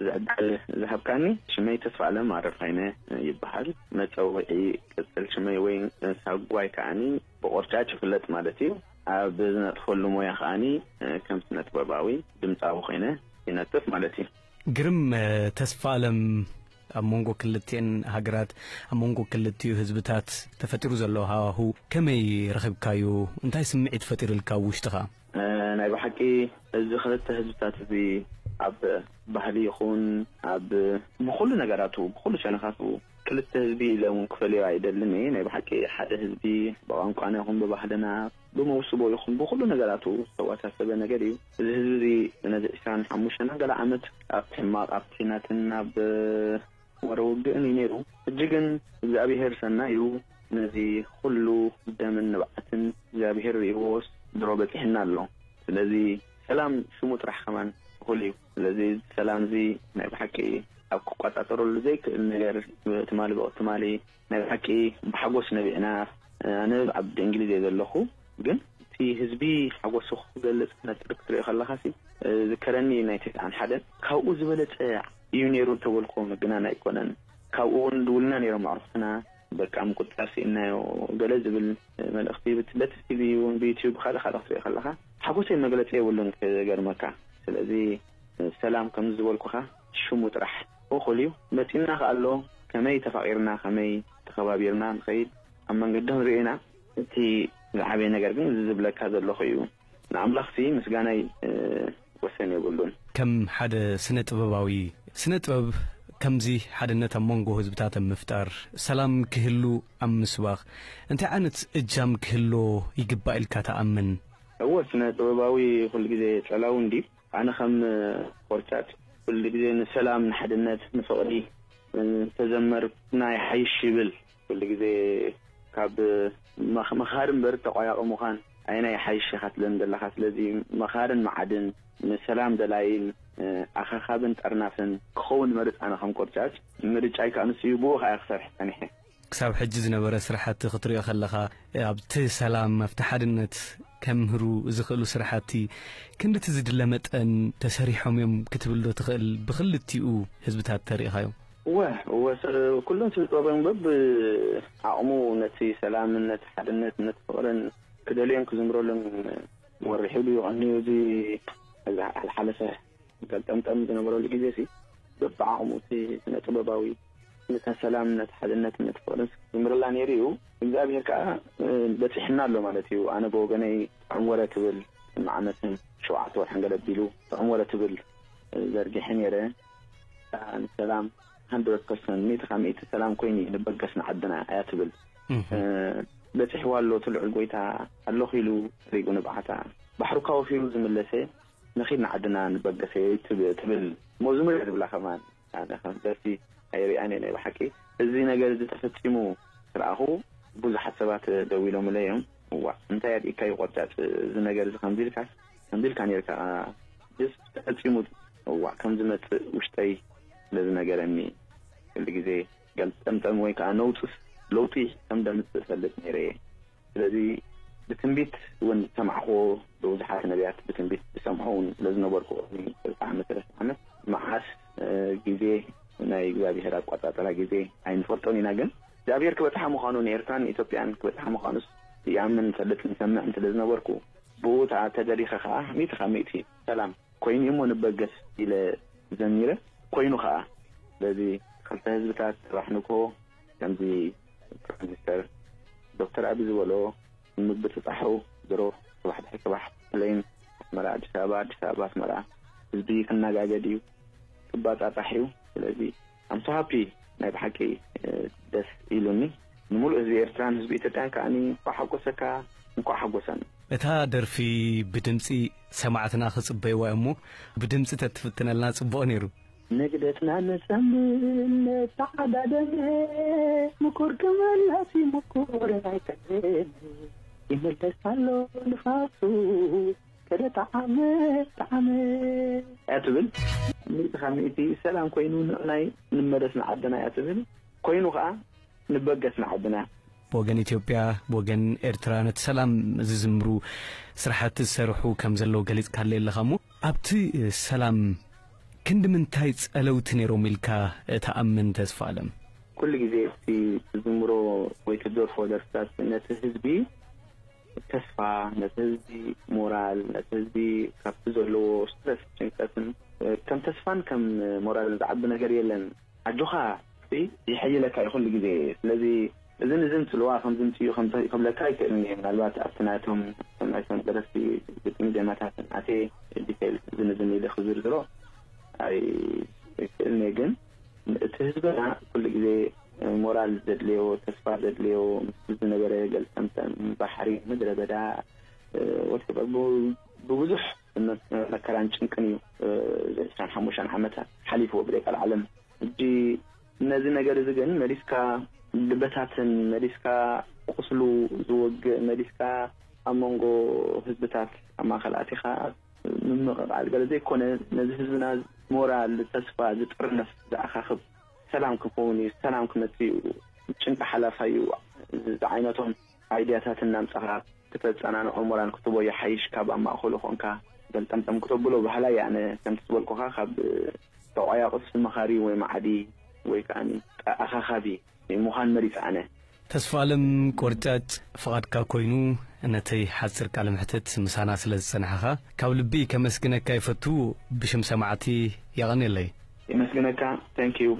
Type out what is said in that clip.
እዚ ዕድል ዝሃብካኒ። ሽመይ ተስፋ ኣለም ኣረፋይነ ይበሃል። መጸውዒ ቅጽል ሽመይ ወይ ሳጓይ ከኣኒ ብቆርጫጭ ይፍለጥ ማለት እዩ። ኣብ ዝነጥፈሉ ሞያ ከኣኒ ከም ስነ ጥበባዊ ድምጻዊ ኮይነ ይነጥፍ ማለት እዩ። ግርም። ተስፋ ኣለም፣ ኣብ መንጎ ክልቲኤን ሃገራት፣ ኣብ መንጎ ክልቲኡ ህዝብታት ተፈጢሩ ዘሎ ሃዋሁ ከመይ ረኺብካዩ? እንታይ ስምዒት ፈጢሩልካ ኣብ ውሽጥኻ? ናይ ብሓቂ እዚ ክልተ ህዝብታት እዚ ኣብ ባህሊ ይኹን ኣብ ብኹሉ ነገራቱ፣ ብኹሉ ሸነኻቱ ክልተ ህዝቢ ኢለ እውን ክፈልዮ ኣይደልን እየ። ናይ ብሓቂ ሓደ ህዝቢ ብቋንቋና ይኹን ብባህልና፣ ብመውስቦ ይኹን ብኹሉ ነገራቱ ዝተወሳሰበ ነገር እዩ። እዚ ህዝቢ እዚ ነዚ ዕስራን ሓሙሽተን ገለ ዓመት ኣብ ሕማቕ፣ ኣብ ኲናትን ኣብ ወረ ውግእን እዩ ነይሩ። ሕጂ ግን እግዚኣብሄር ሰናይ እዩ። ነዚ ኩሉ ደምን ንብዓትን እግዚኣብሄር ርእይዎስ ድሮ በጺሕና ኣሎ። ስለዚ ሰላም ሽሙ ጥራሕ ከማን እኹል እዩ። ስለዚ ሰላም እዚ ናይ ብሓቂ ኣብ ክቆጻጸረሉ ዘይክእል ነገር ትማሊ ብቕ-፣ ትማሊ ናይ ብሓቂ ብሓጎስ ነቢዕና። ኣነ ኣብ እንግሊዝ እየ ዘለኹ፣ ግን እቲ ህዝቢ ሓጎሱ ክገልጽ ክነጥር ክትሪኦ ከለኻሲ ዝከረኒ ናይ ተስዓን ሓደን ካብኡ ዝበለጸ እዩ ነይሩ እንተበልኩ ምግናን ኣይኮነን። ካብኡ እውን ድውልና ነይሮም ኣዕሩኽትና። በቃ ምቁጽጻር ስኢንናዮ ገለ ዝብል መልእኽቲ ብት-፣ በቲ ቲቪ እውን ብዩትዩብ ካልእ ካልእ ክትሪኦ ከለኻ ሓጎሰይ መግለጺ የብሉን ክገርመካ። ስለዚ ሰላም ከምዚ ዝበልኩኻ ሽሙ ጥራሕ እኹል እዩ። መጺእና ከኣ ኣሎ ከመይ ተፋቒርና ከመይ ተኸባቢርና ንኸይድ ኣብ መንገዲ ክንሪኦ ኢና። እቲ ዝዓበየ ነገር ግን እዚ ዝብለካ ዘለኹ እዩ። ንኣምላኽሲ ምስጋናይ ወሰን የብሉን። ከም ሓደ ስነ ጥበባዊ፣ ስነ ጥበብ ከምዚ ሓድነት ኣብ መንጎ ህዝብታት ኣብ ምፍጣር፣ ሰላም ክህሉ ኣብ ምስባኽ እንታይ ዓይነት እጃም ክህሎ ይግባእ ኢልካ ትኣምን? እወ፣ ስነ ጥበባዊ ኩሉ ግዜ ጸላዊ እንድዩ። ኣነ ከም ቆርጫጭ ኩሉ ግዜ ንሰላም፣ ንሓድነት፣ ንፍቕሪ ተዘመርና ይሓይሽ ይብል። ኩሉ ግዜ ካብ መኽ-፣ መኻሪ እምበር ተቋያቒ ምዃን ኣየናይ ይሓይሽ ኢኻ ትብለኒ ዘለኻ። ስለዚ መኻርን መዓድን፣ ንሰላም ደላይን፣ ኣኻኻብን ጠርናፍን ክኸውን እመርጽ ኣነ ከም ቆርጫጭ። ምርጫይ ከኣ ንሱ እዩ፣ ብኡ ከኣ እየ ክሰርሕ ጸኒሐ። ክሳብ ሕጂ ዝነበረ ስራሕቲ ክትሪኦ ከለኻ፣ ኣብቲ ሰላም፣ ኣብቲ ሓድነት ከምህሩ ዝኽእሉ ስራሕቲ ክንድቲ ዝድለ መጠን ተሰሪሖም እዮም ክትብል ዶ ትኽእል? ብኽልቲኡ ህዝብታት ተሪእኻዮም? እወ፣ እወ፣ ስ-፣ ኩሎም ስነ ጥበባውያን በብ ዓቕሙ ነቲ ሰላምን ነቲ ሓድነት ነቲ ፍቕርን ክደልዮን ክዝምረሉን ወሪሑ ድዩ ቀንዩ እዚ ዝሓለፈ ገልጠምጠም ዝነበረሉ ግዜ ሲ በብዓቕሙ እቲ ስነ ጥበባዊ ነታ ሰላም ነቲ ሓድነት ነቲ ፍቕርን ዝዝምረላ ነይሩ እዩ። እግዚኣብሔር ከዓ በፂሕና ኣሎ ማለት እዩ። ኣነ ብወገነይ ጥዑም ወረ ትብል ዓመትን ሸውዓተ ወርሕን ገለ ኣቢሉ ጥዑም ወረ ትብል ዘርጊሐ ነይረ። ንሰላም ሃንድረድ ፐርሰንት፣ ሚእቲ ካብ ሚእቲ ሰላም ኮይኑ እዩ ንበገስ ንዓድና እያ ትብል። በፂሕዋ ኣሎ እቲ ልዑል ጎይታ ኣለኹ ኢሉ ሰሪጉ ንብዓታ ባሕሩ ካወፊሩ ዝምለሰ ንኺድ ንዓድና ንበገሰ ትብ-፣ ትብል መዝሙር እያ ዝብላ ከማን። ኣነ ከም ደርፊ ኣይሪኣን እየ ናይ ብሓቂ። እዚ ነገር እዚ ተፈፂሙ ስርኣኹ ብዙሓት ሰባት ደው ኢሎምለ እዮም። እዋ እንታይ ኣድኢካ እዩ ቆርጫጭ፣ እዚ ነገር እዚ ከምዚ ኢልካ ከምዚ ኢልካ ነርካ ስ ተፈፂሙ እዋ ከም ዝመፅእ ውሽጠይ ስለ ዝነገረኒ ኩሉ ግዜ ገልጠምጠም ወይ ከዓ ነውፅስ ለውጢ ከም ደምፅእ እፈልጥ ነይረ እየ። ስለዚ ብትንቢት እውን ዝሰማዕክዎ ብብዙሓት ነቢያት ብትንቢት ዝሰምዖ እውን ስለ ዝነበርኩ ቅድሚ ክልተ ዓመት ሰለስተ ዓመት መዓስ ግዜ ናይ እግዚኣብሔር ኣቋፃፅራ ግዜ ኣይንፈልጦን ኢና። ግን እግዚኣብሔር ክበፅሓ ምዃኑ ንኤርትራን ንኢትዮጵያን ክበፅሓ ምዃኑስ ይኣምን ይፈልጥ ንሰምዕን ስለ ዝነበርኩ ብኡ ተደሪኸ ከዓ ሚእቲ ካብ ሚእቲ ሰላም ኮይኑ እሞ ንበገስ ኢለ ዘሚረ። ኮይኑ ከዓ በዚ ክልተ ህዝብታት ጽባሕ ንግሆ ከምዚ ፕራይም ሚኒስተር ዶክተር ኣቢ ዝበሎ ንምብጽጻሑ ድሮ ጽባሕ ድሕሪ ጽባሕ ፕሌን ኣስመራ ኣዲስ ኣበባ ኣዲስ ኣበባ ኣስመራ ህዝቢ ክነጋገድ እዩ ክባጻጻሕ እዩ። ስለዚ ኣምሶ ሃፒ ናይ ብሓቂ ደስ ኢሉኒ። ንምሉእ ህዝቢ ኤርትራን ህዝቢ ኢትዮጵያን ከኣኒ እንኳዕ ሓጎሰካ እንኳዕ ሓጎሰን። እታ ደርፊ ብድምጺ ሰማዕትና ክጽበይዋ እሞ ብድምጺ ተትፍትነልና ጽቡቕ ነይሩ። ንግደትና ንጸምን ንተዓዳደም ምኩር ክመለስ እዩ ምኩር ኣይቀርም ይመለስ ኣሎ ንፋሱ ከደ ጠዓመ ጠዓመ እያ ትብል። ሚእቲ ካብ ሚእቲ ሰላም ኮይኑ ንዕናይ ንመለስ ንዓድና እያ ትብል። ኮይኑ ከኣ ንበገስ ንዓድና። ብወገን ኢትዮጵያ ብወገን ኤርትራ ነቲ ሰላም ዝዝምሩ ስራሕቲ ዝሰርሑ ከም ዘለዉ ገሊጽካለይ ኣለኻ እሞ ኣብቲ ሰላም ክንዲ ምንታይ ጸለውቲ ነይሮም ኢልካ እትኣምን ተስፋ ኣለም? ኩሉ ግዜ እቲ ትዝምሮ ወይ ትደርፎ ደርፍታት ነቲ ህዝቢ ተስፋ፣ ነቲ ህዝቢ ሞራል፣ ነቲ ህዝቢ ካብቲ ዘለዎ ስትረስ፣ ጭንቀትን ከም ተስፋን ከም ሞራልን ዝዓቢ ነገር የለን። ኣጆኻ፣ ይሕይለካ እዩ ኩሉ ግዜ። ስለዚ እዝን እዝን ጽልዋ ከምዚ ምጽኡ ከም ክብለካ ኣይክእልን እየ። ምናልባት ኣብቲ ናቶም፣ ኣብቶም ናይቶም ደረፍቲ ግጥሚ ዜማታት ኣትየ ዲቴይል እዝን እዝን ኢለ ክዝርዝሮ ኣይክእልን እየ። ግን እቲ ህዝብና ኩሉ ግዜ ሞራል ዘድልዮ፣ ተስፋ ዘድልዮ፣ ምስ ዝነበረ ገልጠምጠም ባሕሪ፣ ምድረ በዳ፣ ወትፈር ብብዙሕ መከራን ጭንቅን እዩ እዚ ዕስራን ሓሙሽተን ዓመታት ሓሊፍዎ ብደቃል ዓለም። ሕጂ ነዚ ነገር እዚ ግን መሊስካ ልበታትን መሊስካ ቁስሉ ዝወግእ መሊስካ ኣብ መንጎ ህዝብታት ኣብ ማእከል ኣቲኻ ምምቕቓል ገለ ዘይኮነ፣ ነዚ ህዝብና ሞራል፣ ተስፋ ዝጥርነፍ ዝኣኻኽብ ሰላም ክኸውን እዩ፣ ሰላም ክመጽእ እዩ፣ ጭንቂ ሓላፋይ እዩ ዝዓይነቶም ኣይድያታት እናምጻኻ ክተጸናንዖ ሞራል ክትቦ ይሓይሽ ካብ ኣብ ማእከሉ ኮንካ ገልጠምጠም ክተብሎ በሃላይ ኣነ። ከምቲ ዝበልኩኻ ካብ ተቋያቑስ መኻሪ ወይ መዓዲ ወይ ከኣ ኣኻኻቢ ምዃን መሪጸ ኣነ። ተስፋ ኣለም ቆርጫጭ፣ ፍቓድካ ኮይኑ ነተይ ሓጺር ቃለ መሕትት ምሳና ስለ ዝጸናሕኻ ካብ ልቢ ከመስግነካ ይፈቱ። ብሽም ሰማዕቲ የቐንየለይ። የመስግነካ። Thank you።